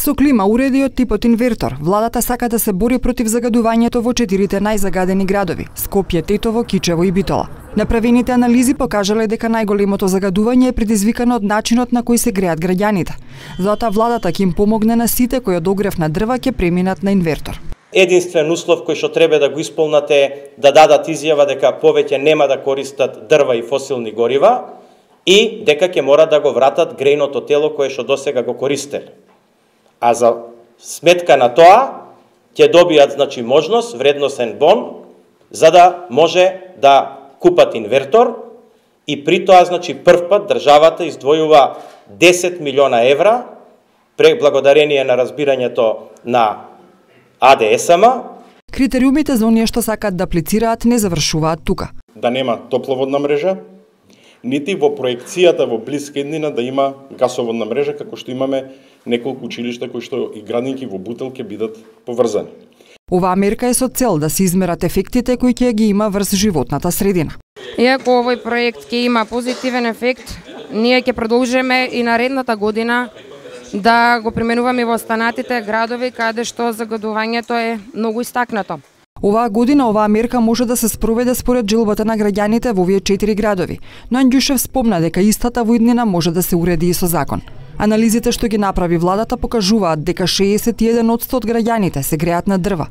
Со клима уреди од типот инвертор, владата сака да се бори против загадувањето во 4 најзагадени градови – Скопје, Тетово, Кичево и Битола. Направените анализи покажале дека најголемото загадување е предизвикано од начинот на кој се греат граѓаните. Затоа владата ќе им помогне на сите кои од огрев на дрва ќе преминат на инвертор. Единствен услов кој што треба да го исполнате да дадат изјава дека повеќе нема да користат дрва и фосилни горива и дека ќе мора да го вратат грејното тело кое што досега го користеле. А за сметка на тоа ќе добијат можност, вредносен бон, за да може да купат инвертор и при тоа прв пат државата издвојува 10 милиона евра благодарение на разбирањето на АДСМ. Критериумите за оние што сакат да аплицираат не завршуваат тука. Да нема топловодна мрежа, нити во проекцијата во блиска иднина да има гасоводна мрежа, како што имаме неколку училишта кои што и градинки во Бутел ќе бидат поврзани. Оваа мерка е со цел да се измерат ефектите кои ќе ги има врз животната средина. Иако овој проект ќе има позитивен ефект, ние ќе продолжиме и наредната година да го применуваме во останатите градови каде што загадувањето е многу истакнато. Оваа година оваа мерка може да се спроведе според желбата на граѓаните во овие 4 градови, но Анѓушев спомна дека истата во иднина може да се уреди и со закон. Анализите што ги направи владата покажуваат дека 61% од граѓаните се греат на дрва,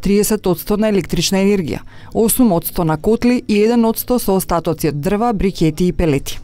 30% на електрична енергија, 8% на котли и 1% со остатоци од дрва, брикети и пелети.